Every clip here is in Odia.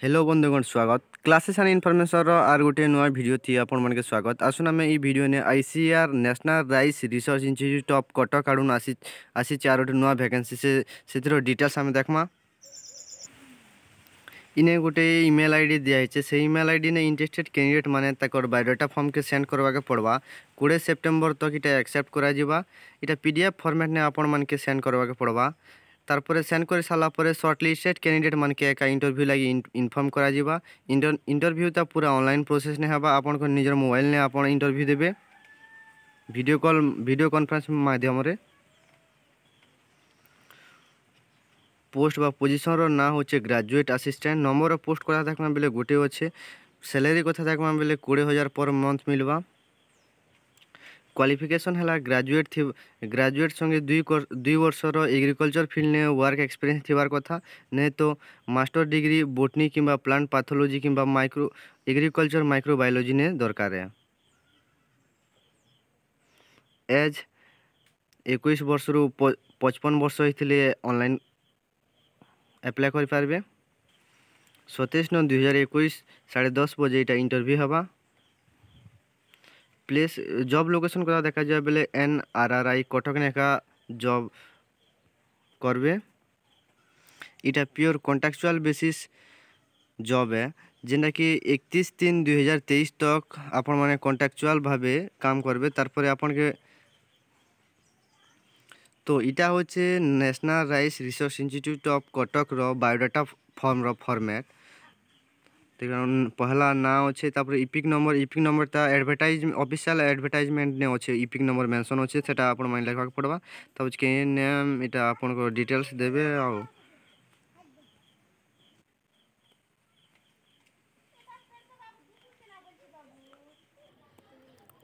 ହ୍ୟାଲୋ ବନ୍ଧୁଗଣ, ସ୍ୱାଗତ କ୍ଲାସେସ୍ ଆଣ୍ଡ ଇନଫର୍ମେସନ୍ର ଆର୍ ଗୋଟିଏ ନୂଆ ଭିଡ଼ିଓ ଥି ଆପଣମାନଙ୍କୁ ସ୍ୱାଗତ। ଆସୁନ୍ ଆମେ ଏଇ ଭିଡ଼ିଓ ନେ ICAR national rice research institute of Cuttack ଆଡ଼ୁ ଆସିଛି ଆର୍ ଗୋଟେ ନୂଆ ଭ୍ୟାକେନ୍ସି, ସେ ସେଥିର ଡିଟେଲ୍ସ ଆମେ ଦେଖ୍ମା। ଇନେ ଗୋଟେ ଇମେଲ୍ ଆଇଡି ଦିଆହେଇছে। ସେଇ ଇମେଲ୍ ଆଇଡି ନେ ଇଣ୍ଟରେଷ୍ଟେଡ୍ କ୍ୟାଣ୍ଡିଡେଟ୍ ମାନେ ତାକର ବାୟୋଡାଟା ଫର୍ମକେ ସେଣ୍ଡ କରବାକେ ପଡ଼ବା। 20 ସେପ୍ଟେମ୍ବର ତକ୍ ଇଟା ଆକ୍ସେପ୍ଟ କରାଯିବା। ଇଟା ପିଡିଏଫ୍ ଫର୍ମାଟ୍ ନେ ଆପଣମାନକେ ସେଣ୍ଡ କରବାକେ ପଡ଼ବା। ତାରପରେ ସେଣ୍ଡ କରି ସାରିଲା ପରେ ସର୍ଟ ଲିଷ୍ଟେଡ୍ କ୍ୟାଣ୍ଡିଡେଟ୍ ମାନକେ ଏକା ଇଣ୍ଟରଭ୍ୟୁ ଲାଗି ଇନଫର୍ମ କରାଯିବା। ଇଣ୍ଟରଭ୍ୟୁଟା ପୁରା ଅନଲାଇନ୍ ପ୍ରୋସେସ୍ ନେ ହେବା। ଆପଣଙ୍କ ନିଜର ମୋବାଇଲ୍ ନେ ଆପଣ ଇଣ୍ଟରଭ୍ୟୁ ଦେବେ ଭିଡ଼ିଓ କଲ୍, ଭିଡ଼ିଓ କନଫରେନ୍ସ ମାଧ୍ୟମରେ। ପୋଷ୍ଟ ବା ପୋଜିସନ୍ର ନାଁ ହେଉଛି graduate assistant. Number of post କଥା ଦେଖମା ବେଲେ ଗୋଟେ ଅଛେ। ସାଲାରୀ କଥା ଦେଖମା ବେଲେ 20,000 ପର ମନ୍ଥ ମିଲବା। କ୍ୱାଲିଫିକେସନ୍ ହେଲା ଗ୍ରାଜୁଏଟ୍, ଗ୍ରାଜୁଏଟ୍ ସଙ୍ଗେ 2 ବର୍ଷର ଏଗ୍ରିକଲଚର୍ ଫିଲ୍ଡ ନେ ୱାର୍କ ଏକ୍ସପିରିଏନ୍ସ ଥିବାର କଥା, ନାଇଁ ତ ମାଷ୍ଟର ଡିଗ୍ରୀ ବୋଟନି କିମ୍ବା ପ୍ଲାଣ୍ଟ ପାଥୋଲୋଜି କିମ୍ବା ଏଗ୍ରିକଲଚର୍ ମାଇକ୍ରୋବାୟୋଲୋଜି ନେ ଦରକାର। ଏଜ୍ 21 ବର୍ଷରୁ 55 ବର୍ଷ ହେଇଥିଲେ ଅନଲାଇନ୍ ଆପ୍ଲାଏ କରିପାରିବେ। 27/9/2021 10:30 ବଜେ ଏଇଟା ଇଣ୍ଟରଭ୍ୟୁ ହେବା। ପ୍ଲେସ୍, ଜବ୍ ଲୋକେସନ୍ କଥା ଦେଖାଯିବା ବେଲେ NRRI Cuttack ଏକା ଜବ୍ କରବେ। ଇଟା ପିଓର କଣ୍ଟ୍ରାକ୍ଚୁଆଲ୍ ବେସିସ୍ ଜବ୍ ଏ, ଯେନ୍ଟାକି 31/3/2023 ତକ୍ ଆପଣମାନେ କଣ୍ଟ୍ରାକ୍ଚୁଆଲ୍ ଭାବେ କାମ କରବେ। ତାରପରେ ଆପଣକେ ତ ଇଟା ହଉଛେ national rice research institute of କଟକର ବାୟୋଡାଟା ଫର୍ମର ଫର୍ମାଟ୍। ପହଲା ନାଁ ଅଛେ, ତାପରେ ଇପିକ୍ ନମ୍ବର। ଇପିକ୍ ନମ୍ବରଟା ଅଫିସିଆଲ୍ ଆଡ଼ଭର୍ଟାଇଜମେଣ୍ଟ ନେ ଅଛେ, ଇପିକ୍ ନମ୍ବର ମେନସନ୍ ଅଛେ, ସେଟା ଆପଣମାନେ ଲେଖବାକେ ପଡ଼ବା। ତାପରେ କେ ନେମ୍, ଏଇଟା ଆପଣଙ୍କ ଡିଟେଲ୍ସ ଦେବେ। ଆଉ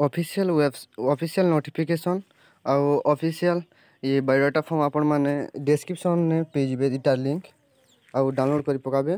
ଅଫିସିଆଲ୍ ୱେବ୍, ଅଫିସିଆଲ୍ ନୋଟିଫିକେସନ୍ ଆଉ ଅଫିସିଆଲ୍ ଇ ବାୟୋଡାଟା ଫର୍ମ ଆପଣମାନେ ଡେସ୍କ୍ରିପସନ୍ରେ ପାଇଯିବେ ଇଟାର ଲିଙ୍କ୍, ଆଉ ଡାଉନଲୋଡ଼୍ କରି ପକାବେ।